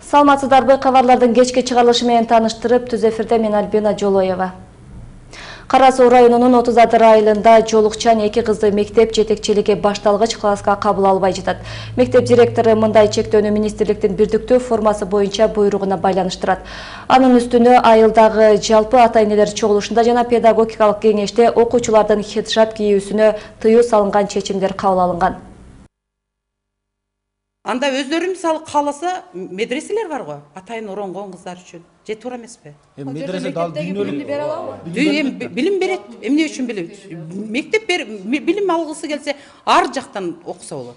Саламатсыздарбы, кабарлардын кечки чыгарылышы менен тааныштырып, түз эфирде мен Альбина Жолоева. Кара Суу районунун 30 айылында жолукчан 2 кызды мектеп жетекчилиги башталгыч класска кабыл албай жатат. Мектеп директору мындай чектөөнү министрликтин бирдиктүү формасы боюнча буйругуна байланыштырат. Анын үстүнө айылдагы жалпы ата-энелер чогулушунда жана педагогикалык кеңеште окуучулардын хиджаб кийүүсүнө тыюу салынган чечимдер кабыл алынган. Анда өздөрү мисалы кааласа медреселер бар го, атайын оронгон кыздар үчүн. Же туура эмеспи? Медресе дал дүйнөлүк бере алабы? Билим берет. Эмне үчүн билим? Мектеп билим алгысы келсе, ар жактан окуса болот.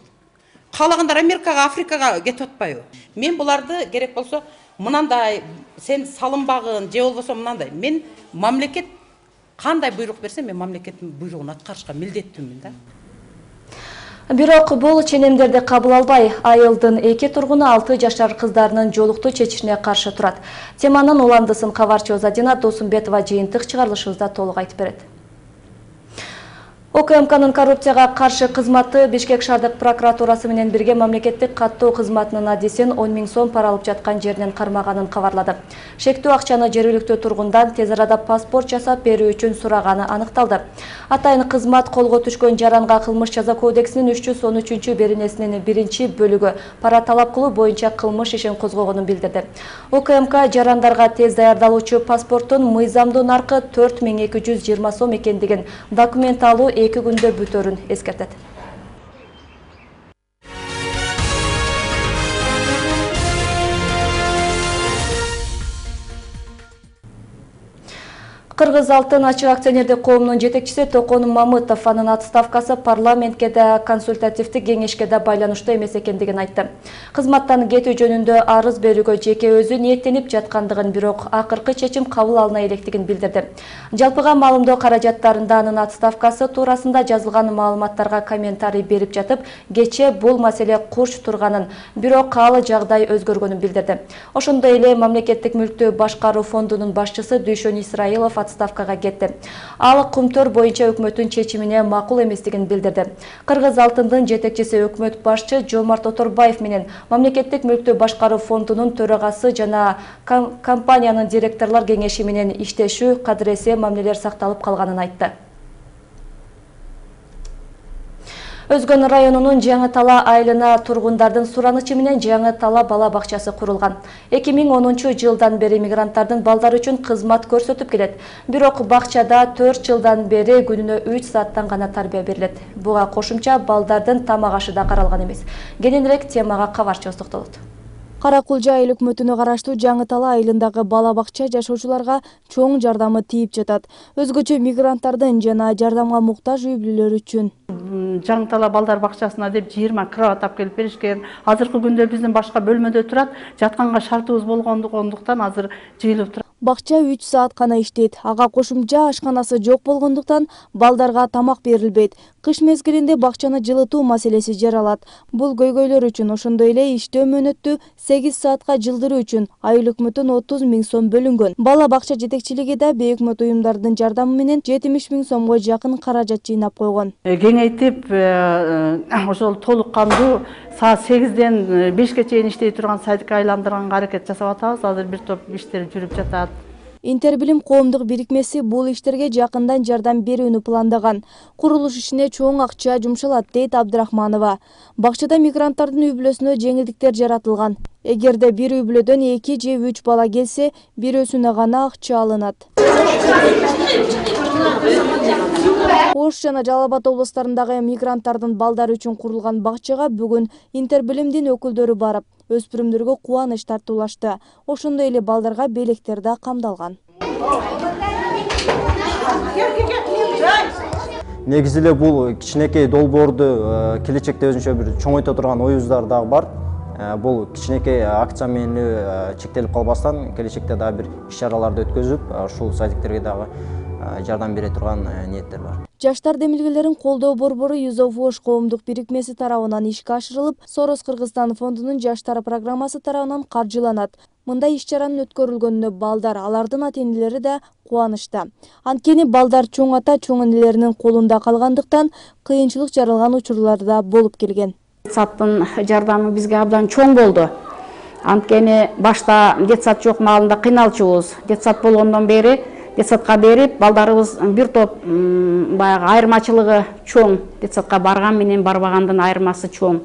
Каалагандар Америкага, Африкага кетип атпайбы? Мен буларды керек болсо мынандай сен салынбагын, же болбосо мынандай. Мен мамлекет кандай буйрук берсе, мен мамлекеттин буйругун аткарышка милдеттүүмүн да. Бирок бул ченемдерди кабыл албай, айылдын 2 тургуну 6 жашар кыздарынын жолуктуу чечишине каршы турат. Теманын уландысын кабарчы Озадина Досумбетова жыйынтык чыгарылышыбызда толук айтып берет. ОКМКнын коррупцияга каршы кызматы Бишкек шаардык прокуратурасы менен бирге мамлекеттик каттоо кызматынын адисин 10 000 сом пара алып жаткан жеринен кармаганын кабарлады. Шектүү акчаны жергиликтүү тургундан тез арада паспорт жасап берүү үчүн сураганы аныкталды. Атайын кызмат колго түшкөн жаранга кылмыш жаза кодексинин 313 беренесинин 1-бөлүгү пара талап кылуу боюнча кылмыш ишин козгогонун билдирди. ОКМК жарандарга тез даярдалуучу паспорттун мыйзамдуу наркы 4220 сом экендигин, документ алуу 2 күндө бүтөрүн эскертет. Кыргыз Алтын ачык акционердик коомунун жетекчиси Токон Мамытов анын отставкасы парламентке да консультативдик кеңешке да байланыштуу эмес экендигин айтты. Кызматтан кетүү жөнүндө арыз берүүгө жеке өзү ниеттенип жаткандыгын, бирок акыркы чечим кабыл алына электигин билдирди. Жалпыга маалымдоо каражаттарында анын отставкасы туурасында жазылган маалыматтарга комментарий берип жатып, кечээ бул маселе курч турганын, бирок каалы жагдай өзгөргөнүн билдирди. Ошондой эле мамлекеттик мүлктү башкаруу фондунун башчысы Дүйшөн Исраилов отставкага кетти. Ал кумтөр боюнча өкмөттүн чечимине макул эместигин билдирди. Кыргыз Алтындын жетекчиси өкмөт башчы Жомарт Оторбаев менен мамлекеттик мүлктү башкаруу фондунун төрагасы жана компаниянын директорлор кеңеши менен иштешүү, кадыресе мамилелер сакталып калганын айтты. Өзгөн районунун Жаңы Тала айылына тургундардын суранычы менен Жаңы Тала бала бакчасы курулган. 2010 жылдан бери мигранттардын балдары үчүн кызмат көрсөтүп келет. Бирок бакчада 4 жылдан бери күнүнө 3 сааттан гана тарбия берилет. Буга кошумча балдардын тамак ашы да каралган эмес. Кененирээк темага кабарчыбыз токтолот. Каракулжа айыл өкмөтүнө караштуу Жаңы Тала айылындагы бала бакча жашоочуларга чоң жардамы тийип жатат. Өзгөчө мигранттардын жана жардамга муктаж үй бүлөлөр үчүн. Жаңы Тала балдар бакчасына деп 20 кровать алып келип беришкен. Азыркы күндө биздин башка бөлмөдө турат. Жатканга шартыбыз болгондуктан азыр жыйылып турат. Бакча 3 саат гана иштейт. Ага кошумча ашканасы жок болгондуктан балдарга тамак берилбейт. Кыш мезгилинде бакчаны жылытуу маселеси жаралат. Бул көйгөйлөр үчүн ошондой эле иштөө мөөнөттү 8 саатка жылдыруу үчүн айыл өкмөтүн 30 000 сом бөлүнгөн. Бала бакча жетекчилиги да бейөкмөт уюмдардын жардамы менен 70 000 сомго жакын каражат жыйнап койгон. Кеңейтип, ошол толук кандуу саат 8ден 5ке чейин иштей турган сайтка айландырганга аракет жасап атабыз. Азыр бир топ иштер жүрүп жатат. Интербилим коомдук бирикмеси бул иштерге жакындан жардам берүүнү пландаган. Курулуш ишине чоң акча жумшалат, дейт Абдрахманова. Бакчада мигранттардын үй бүлөсүнө жеңилдиктер жаратылган. Эгерде бир үй бүлөдөн 2 же 3 бала келсе, бирөөсүнө гана акча алынат. Ош жана Жалал Абад облустарындагы мигранттардын балдары үчүн курулган бакчага бүгүн Интербилимдин өкүлдөрү барып, өспүрүмдөргө кубаныч тартуулашты. Ошондой эле балдарга белектер да камдалган. Негизи эле бул кичинекей долбоорду келечекте өзүнчө бир чоңойто турган оюбуздар дагы бар. Бул кичинекей акция менен чектелип калбастан келечекте дагы бир иш-чараларды өткөзүп, ушул садиктерге дагы жардам бере турган ниеттер бар. Жаштар демилгелерин колдоо борбору Юзов Ош коомдук бирикмеси тарабынан ишке ашырылып, Сорос Кыргызстан фондунун жаштар программасы тарабынан каржыланат. Мындай иш-чаранын өткөрүлгөнүнө балдар, алардын ата-энелери да кубанычта. Анткени балдар чоң ата, чоң энелеринин колунда калгандыктан кыйынчылык жаралган учурлар да болуп келген. Саттын жардамы бизге абдан чоң болду. Анткени башта детсад жок маалында кыйналчубуз. Детсад болгондон бери детсадка берип, балдарыбыз бир топ баягы айырмачылыгы чоң. Детсадка барган менен барбагандын айырмасы чоң.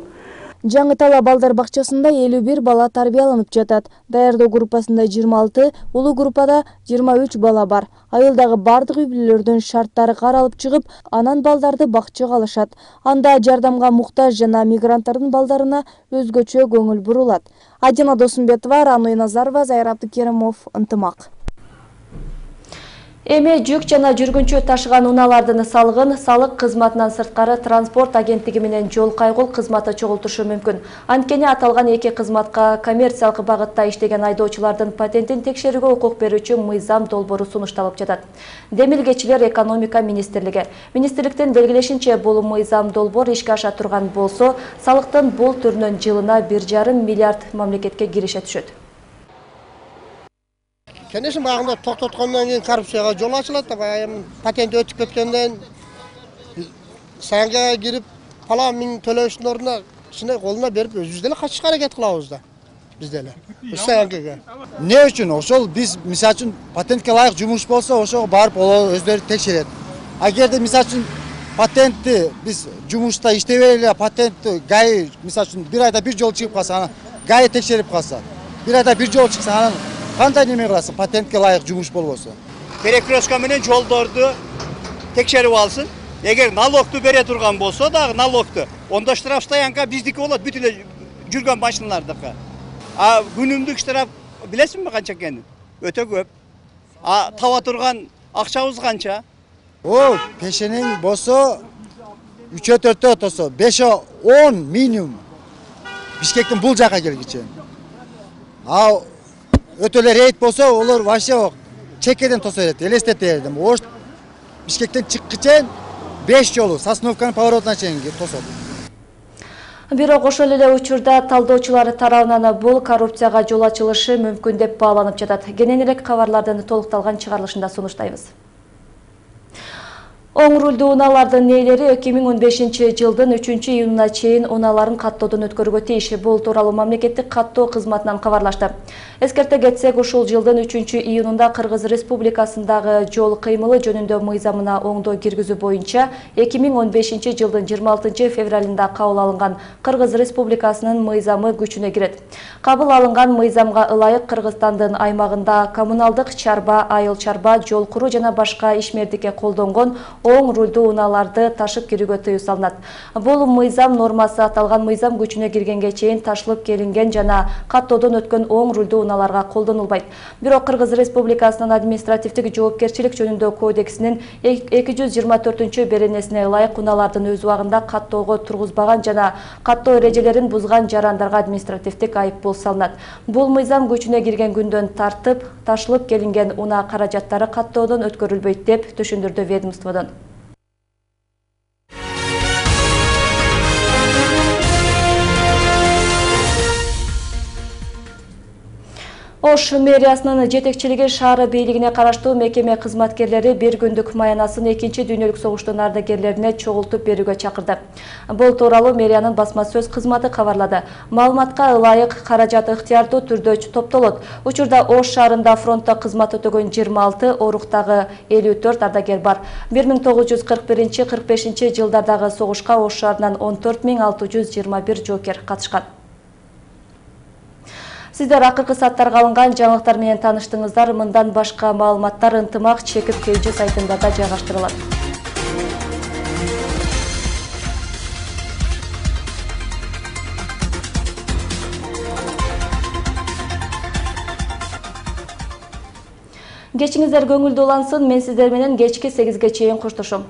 Жаңы Тала балдар бакчасында 51 бала тарбияланып жатат. Даярдоо группасында 26, улуу группада 23 бала бар. Айылдагы бардык үй-бүлөлөрдүн шарттары каралып чыгып, анан балдарды бакчага алышат. Анда жардамга муктаж жана мигранттардын балдарына өзгөчө көңүл бурулат. Адина Досумбетова, Рануй Назарова, Зайыр Абдыкеримов, Ынтымак. Эми жүк жана жүргүнчү ташыган унаалардын салыгын салык кызматынан сырткары транспорт агенттиги менен жол кайгыл кызматы чогултушу мүмкүн. Анткени аталган эки кызматка коммерциялык багытта иштеген айдоочулардын патентин текшерүүгө укук берүүчү мыйзам долбоору сунушталып жатат. Демилгечилер экономика министрлиги. Министрликтин белгилешинче, бул мыйзам долбоор ишке аша турган болсо, салыктын бул түрүнөн жылына 1,5 миллиард мамлекетке киреше түшөт. Конечно, бағында тоқтатқаннан кейін коррупцияға жол ашылады. Патент өтіп кеткенден саңғаға кіріп, палан мың төлеуштің орнына кішіне қолына беріп, өзімізделе қашышқа әрекет қылауыз да. Бізделе. Саңғаға. Не үшін? Ошол біз, мисал үшін, патентке лайық жұмыс болса, ошоға барып, ол өздері текшереді. Агерде, мисал үшін, патентті біз жұмыста иштебейле, патентті гайы, мисал үшін, бір айда бір жол шығып қалса, гайы текшеріп қалса, бір айда бір жол шықса, кандай неме кыласың, патентке лайык жумуш болбосо? Перекрестка менен жолдорду текшерип алсын. Эгер налогду бере турган болсо дагы налогду, онда штраф стоянка биздики болот, бүт эле жүргөн машиналардыкы. А күнүмдүк штраф билесиңби канча экенин? Өтө көп. А таба турган акчабыз канча? О, пешенең болсо 3-4 отосо, 5-10 минимум. Бишкектин бул жака келгиче. А өтөлөр рейд болсо, олар вообще чекеден тосо берет, элестетет. Ош Бишкектен чыккычен 5 жолу Сосновканын поворотуна чейин тосот. Бирок ошол эле учурда талдоочулар тарабынан бул коррупцияга жол ачылышы мүмкүн деп бааланып жатат. Кененирээк кабарлардын толукталган чыгарылышында сунуштайбыз. Оң рулдуу унаалардын ээлери 2015 жылдын 3-июнуна чейин унааларын каттоодон өткөрүүгө тийиш. Бул тууралуу мамлекеттик каттоо кызматынан кабарлашты. Эскерте кетсек, ушул жылдын 3-июнунда Кыргыз Республикасындагы жол кыймылы жөнүндө мыйзамына оңдоо киргизүү боюнча 2015 жылдын 26 февралында кабыл алынган Кыргыз Республикасынын мыйзамы күчүнө кирет. Кабыл алынган мыйзамга ылайык Кыргызстандын аймагында коммуналдык чарба, айыл чарба, жол куруу жана башка ишмердикке колдонгон оң рулдуу унааларды ташып кирүүгө тыюу салынат. Бул мыйзам нормасы аталган мыйзам күчүнө киргенге чейин ташылып келинген жана каттоодон өткөн оң рулдуу унааларга колдонулбайт. Бирок Кыргыз Республикасынын административдик жоопкерчилик жөнүндө кодексинин 224 беренесине ылайык унаалардын өз убагында каттоого тургузбаган жана каттоо эрежелерин бузган жарандарга административдик айыппул салынат. Бул мыйзам күчүнө кирген күндөн тартып ташылып келинген унаа каражаттары каттоодон өткөрүлбөйт деп түшүндүрдү ведомстводон. Ош мэриясынын жетекчилиги шаар бийлигине караштуу мекеме кызматкерлери бир күндүк маянасын 2-дүйнөлүк согуштун ардагерлерине чогултуп берүүгө чакырды. Бул тууралуу мэриянын басма сөз кызматы кабарлады. Маалыматка ылайык каражат ыктыярдуу түрдө топтолот. Учурда Ош шаарында фронтто кызмат өтөгөн 26, оруктагы 54 ардагер бар. 1941-45 жылдардагы согушка Ош шаарынан 14621 жоокер катышкан. Сиздер акыркы сааттарга алынган жаңылыктар менен тааныштыңыздар. Мындан башка маалыматтар Ынтымак чекит KG сайтында да жайгаштырылат. Кечиңиздер көңүлдүү улансын. Мен сиздер менен кечки 8-ге чейин коштошом.